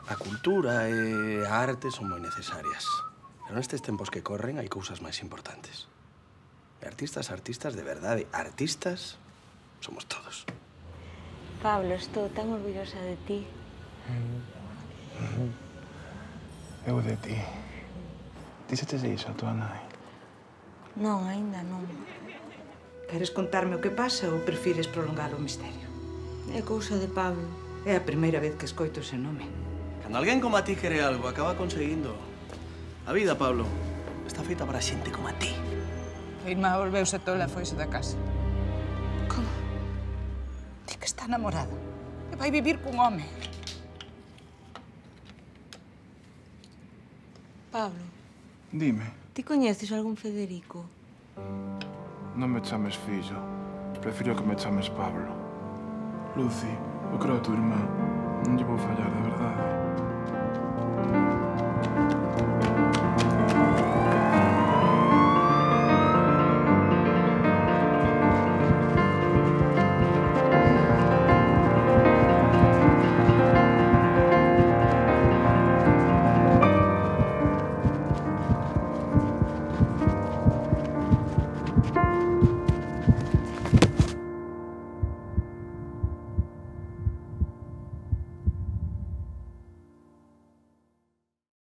A cultura e a arte son moi necesarias. Pero nestes tempos que corren hai cousas máis importantes. E artistas de verdade, artistas somos todos. Pablo, estou tan orgullosa de ti. Eu de ti. Díxetes iso a tua nai? Non, aínda non. Queres contarme o que pasa ou prefires prolongar o misterio? É cousa de Pablo. É a primeira vez que escoito ese nome. Cando alguén como a ti quere algo, acaba conseguindo. A vida, Pablo, está feita para xente como a ti. A irmá volveuse tola e foise da casa. Como? Di que está namorada. E vai vivir cun home. Pablo, Dime, ti coñeces algún Federico? non me chames fillo. Prefiro que me chames Pablo. Lucy, eu creo a tua irmá. Non lle vou fallar de